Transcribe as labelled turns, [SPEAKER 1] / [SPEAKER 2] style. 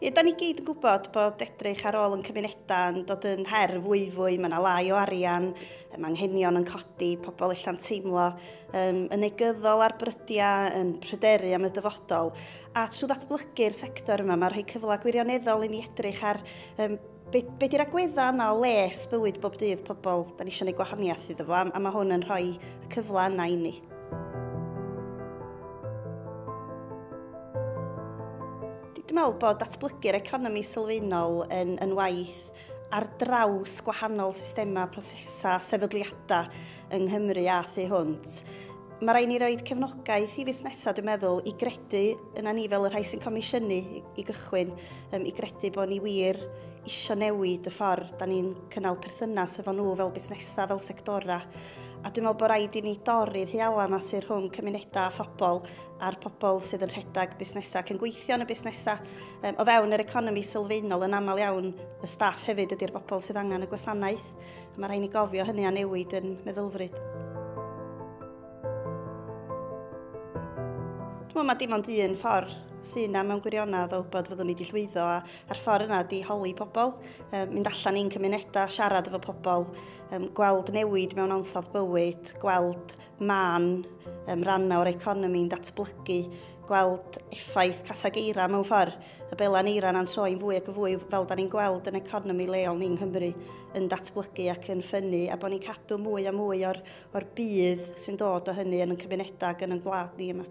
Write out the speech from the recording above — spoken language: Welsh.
[SPEAKER 1] Ie, da ni gyd yn gwybod bod edrych ar ôl yn cymunedau yn dod yn her fwyfwy, mae yna lai o arian, mae anghenion yn codi, pobl ella'n teimlo yn negyddol ar brydiau, yn pryderu am y dyfodol. A trwy ddatblygu'r sector yma, mae'n rhoi cyfle gwirioneddol i ni edrych ar be di'r agweddau yna o les bywyd bob dydd pobl da ni eisiau gwneud gwahaniaeth iddo fo, a mae hwn yn rhoi y cyfle yna i ni. Dwi'n meddwl bod datblygu'r economi sylfaenol yn waith ar draws gwahanol systemau, prosesau, sefydliadau yng Nghymru a thu hwnt. Mae rhaid ni roed cefnogaeth i fusnesau, dwi'n meddwl, i gredu yna ni fel y rhai sy'n comisiynu i gychwyn, i gredu bod ni wir isio newid y ffordd da ni'n cynnal perthynas efo nhw fel busnesau, fel sectora. A dwi'n meddwl bod rhaid i ni dorri'r hiala yma sydd rhwng cymunedau a phobl a'r pobl sydd yn rhedeg busnesau ac yn gweithio yn y busnesau. O fewn yr economi sylfaenol yn aml iawn, y staff hefyd ydy'r bobl sydd angen y gwasanaeth. A mae rhaid ni gofio hynny a newid yn meddylfryd. Dwi'n meddwl mae dim ond un ffordd sy'n yna mewn gwirionedd o wybod fyddwn ni wedi llwyddo, a'r ffordd yna di holi pobl, mynd allan i'n cymunedau, siarad efo pobl, gweld newid mewn ansawdd bywyd, gweld man rannau o'r economi'n datblygu, gweld effaith casag eira mewn ffordd, y belan eira na'n troi'n fwy ac yn fwy fel da ni'n gweld yn economi leol ni'n Nghymru yn datblygu ac yn ffynnu, a bod ni'n cadw mwy a mwy o'r budd sy'n dod o hynny yn ein cymunedau ac yn ein gwlad ni yma.